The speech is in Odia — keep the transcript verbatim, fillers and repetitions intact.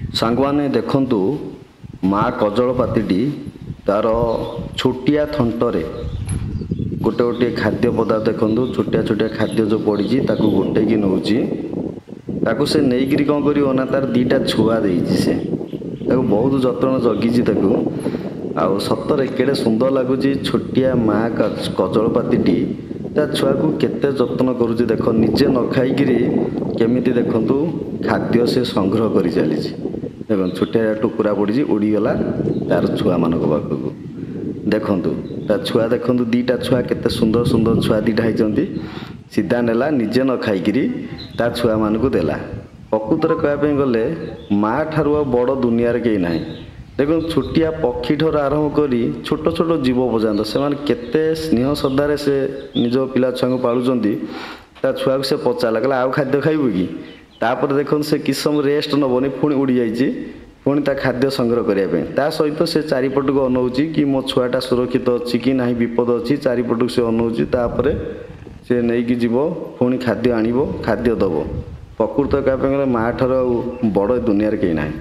ସାଙ୍ଗମାନେ ଦେଖନ୍ତୁ, ମା କଜଳପାତିଟି ତାର ଛୋଟିଆ ଥଣ୍ଟରେ ଗୋଟେ ଗୋଟିଏ ଖାଦ୍ୟ ପଦାର୍ଥ, ଦେଖନ୍ତୁ ଛୋଟିଆ ଛୋଟିଆ ଖାଦ୍ୟ ଯେଉଁ ପଡ଼ିଛି, ତାକୁ ଗୋଟେଇକି ନେଉଛି। ତାକୁ ସେ ନେଇକିରି କ'ଣ କରିବ ନା, ତାର ଦୁଇଟା ଛୁଆ ଦେଇଛି, ସେ ତାକୁ ବହୁତ ଯତ୍ନ ଜଗିଛି ତାକୁ। ଆଉ ସତରେ କେଡ଼େ ସୁନ୍ଦର ଲାଗୁଛି, ଛୋଟିଆ ମା କଜଳପାତିଟି ତା ଛୁଆକୁ କେତେ ଯତ୍ନ କରୁଛି। ଦେଖ, ନିଜେ ନ ଖାଇକିରି କେମିତି ଦେଖନ୍ତୁ ଖାଦ୍ୟ ସେ ସଂଗ୍ରହ କରି ଚାଲିଛି। ଦେଖନ୍ତୁ, ଛୋଟିଆ ଟୁକୁରା ପଡ଼ିଛି, ଉଡ଼ିଗଲା ତାର ଛୁଆମାନଙ୍କ ପାଖକୁ। ଦେଖନ୍ତୁ ତା ଛୁଆ, ଦେଖନ୍ତୁ ଦୁଇଟା ଛୁଆ, କେତେ ସୁନ୍ଦର ସୁନ୍ଦର ଛୁଆ ଦୁଇଟା ହେଇଛନ୍ତି। ସିଧା ନେଲା, ନିଜେ ନ ଖାଇକିରି ତା ଛୁଆମାନଙ୍କୁ ଦେଲା। ପ୍ରକୃତରେ କହିବା ପାଇଁ ଗଲେ ମା ଠାରୁ ଆଉ ବଡ଼ ଦୁନିଆରେ କେହି ନାହିଁ। ଦେଖନ୍ତୁ, ଛୋଟିଆ ପକ୍ଷୀ ଠାରୁ ଆରମ୍ଭ କରି ଛୋଟ ଛୋଟ ଜୀବ ପର୍ଯ୍ୟନ୍ତ ସେମାନେ କେତେ ସ୍ନେହ ଶ୍ରଦ୍ଧାରେ ସେ ନିଜ ପିଲା ଛୁଆଙ୍କୁ ପାଳୁଛନ୍ତି। ତା ଛୁଆକୁ ସେ ପଚାରିଲା, କହିଲା ଆଉ ଖାଦ୍ୟ ଖାଇବୁ କି? ତାପରେ ଦେଖନ୍ତୁ, ସେ କିଛି ସମୟ ରେଷ୍ଟ ନେବନି, ପୁଣି ଉଡ଼ି ଯାଇଛି ପୁଣି ତା ଖାଦ୍ୟ ସଂଗ୍ରହ କରିବା ପାଇଁ। ତା ସହିତ ସେ ଚାରିପଟକୁ ଅନଉଛି କି ମୋ ଛୁଆଟା ସୁରକ୍ଷିତ ଅଛି କି ନାହିଁ, ବିପଦ ଅଛି, ଚାରିପଟକୁ ସେ ଅନଉଛି। ତାପରେ ସେ ନେଇକି ଯିବ, ପୁଣି ଖାଦ୍ୟ ଆଣିବ, ଖାଦ୍ୟ ଦେବ। ପ୍ରକୃତ କହିବା ପାଇଁ ଗଲେ ମା ଠାରୁ ଆଉ ବଡ଼ ଦୁନିଆରେ କେହି ନାହିଁ।